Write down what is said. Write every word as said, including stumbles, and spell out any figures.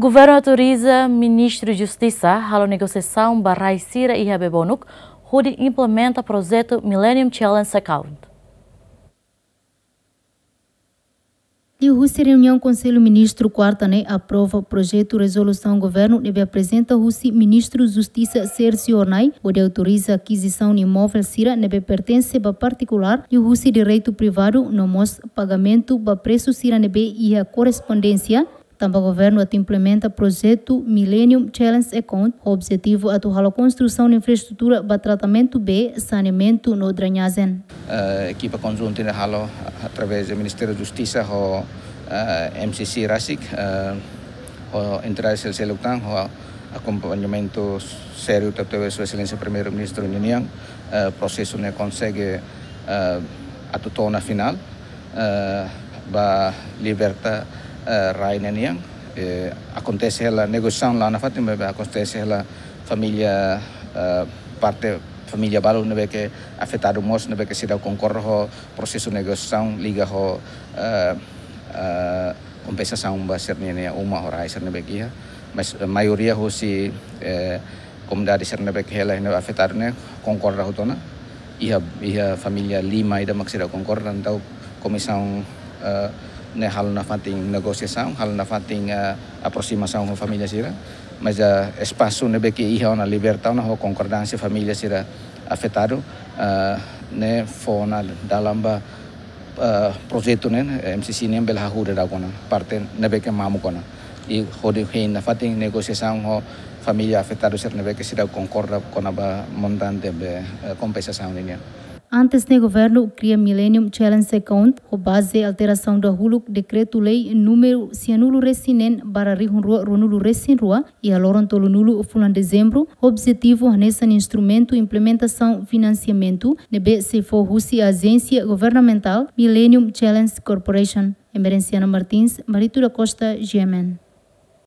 Governu autoriza Ministru Justisa halo negosiasaun ba rai sira iha Bebonuk, hodi implementa projetu Millennium Challenge Account. Liuhusi reuniaun Konsellu Ministru kuarta ne'e aprova projetu rezolusaun governu ne'ebé aprezenta husi Ministru Justisa Sérgio Hornai, hodi autoriza akizisaun imovel sira ne'ebé pertense ba partikulár, liuhusi direitu privadu, no mós pagamentu ba presu sira ne'ebé iha korrespondénsia, tanba governu atu implementa projetu Millennium Challenge Account, ho objetivu atu halo konstrusaun infraestrutura ba tratamentu bee, saneamentu no drenajen. Eh, ekipa konjunta ne'e halo através do Ministériu Justisa ho, eh, M C C rasik, eh, ho entidade seluk tan, ho akompañamentu sériu tebetebes Sua Exelénsia Primeiru-Ministru ninian, eh, prosesu ne'e konsege, eh, atu to'o ona finál, eh, ba liberta, eh, rai ne'e nian. Eh, akontese hela negosiasaun la nafatin, maibé akontese hela família, eh, parte família balu ne'ebé ke afetadu mós, ne'ebé ke seidauk konkorda ho prosesu negosiasaun liga ho, eh, eh, kompensasaun ba sira-nia uma ho rai sira ne'ebé ke iha. Mas, eh, maioria husi, eh, komunidade sira ne'ebé ke hela ne'e afetadu ne'e konkorda hotu ona. Iha, iha família lima ida mak seidauk konkorda, entaun komisaun, eh, ne'e halo nafatin negosiasaun, halo nafatin, eh, aproximasaun ho família sira. Mas, eh, espasu ne'ebé ke iha ona liberta ona ho konkordánsia família sira afetadu, eh, ne'e fó ona dalan ba, eh, projetu ne'e, eh, M C C ne'e bele hahú daudauk ona, parte ne'ebé ke mamuk ona. I hodi hein nafatin negosiasaun ho família afetadu sira ne'ebé ke seidauk konkorda kona-ba montante be, eh, kompensasaun nian. Antes ne'e governu kria Millennium Challenge Account, ho baze alterasaun dahuluk dekretu-lei númeru sianulu resin neen barra rihun rua ruanulu resin rua, iha loron tolunulu fulan Dezembru, objetivu hanesan instrumentu implementasaun finansiamentu, ne'ebé sei fó husi ajénsia governamentál Millennium Challenge Corporation. Emerenciana Martins, Marito da Costa, G M N.